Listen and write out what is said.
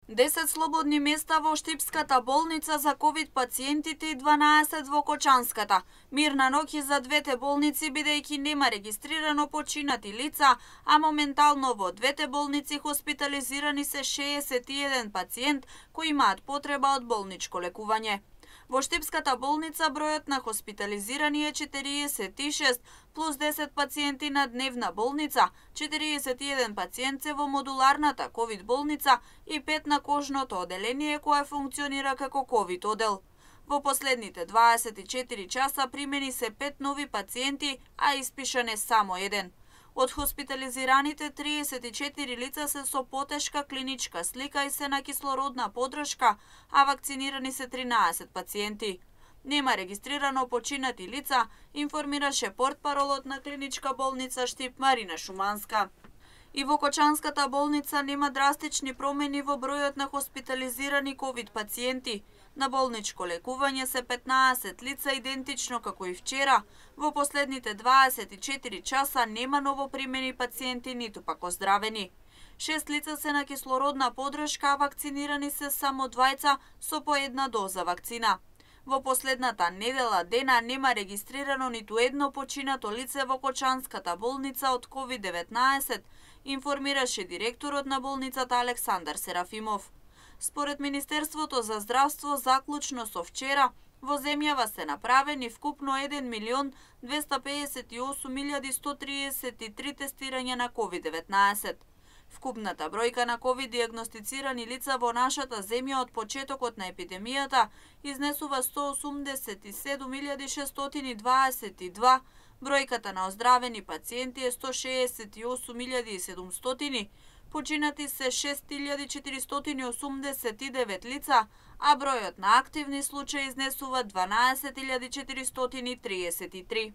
10 слободни места во Штипската болница за ковид пациентите и 12 во Кочанската. Мирна ноќ и за двете болници, бидејќи нема регистрирано починати лица, а моментално во двете болници хоспитализирани се 61 пациент кои имаат потреба од болничко лекување. Во Штипската болница бројот на хоспитализирани е 46 плюс 10 пациенти на дневна болница, 41 пациент се во модуларната ковид болница и 5 на кожното оделение кое функционира како ковид одел. Во последните 24 часа примени се 5 нови пациенти, а испишан е само еден. Од хоспитализираните 34 лица се со потешка клиничка слика и се на кислородна подршка, а вакцинирани се 13 пациенти. Нема регистрирано починати лица, информираше портпаролот на клиничка болница Штип Марина Шуманска. И во Кочанската болница нема драстични промени во бројот на хоспитализирани ковид пациенти. На болничко лекување се 15 лица идентично како и вчера. Во последните 24 часа нема новопримени пациенти ниту пак оздравени. 6 лица се на кислородна подршка, а вакцинирани се само 2 со по една доза вакцина. Во последната недела дена нема регистрирано ниту едно починато лице во Кочанската болница од COVID-19, информираше директорот на болницата Александар Серафимов. Според Министерството за здравство, заклучно со вчера, во земјава се направени вкупно 1.258.133 тестирања на COVID-19. Вкупната бројка на ковид диагностицирани лица во нашата земја од почетокот на епидемијата изнесува 187.622, бројката на оздравени пациенти е 168.700, починати се 6.489 лица, а бројот на активни случаи изнесува 12.433.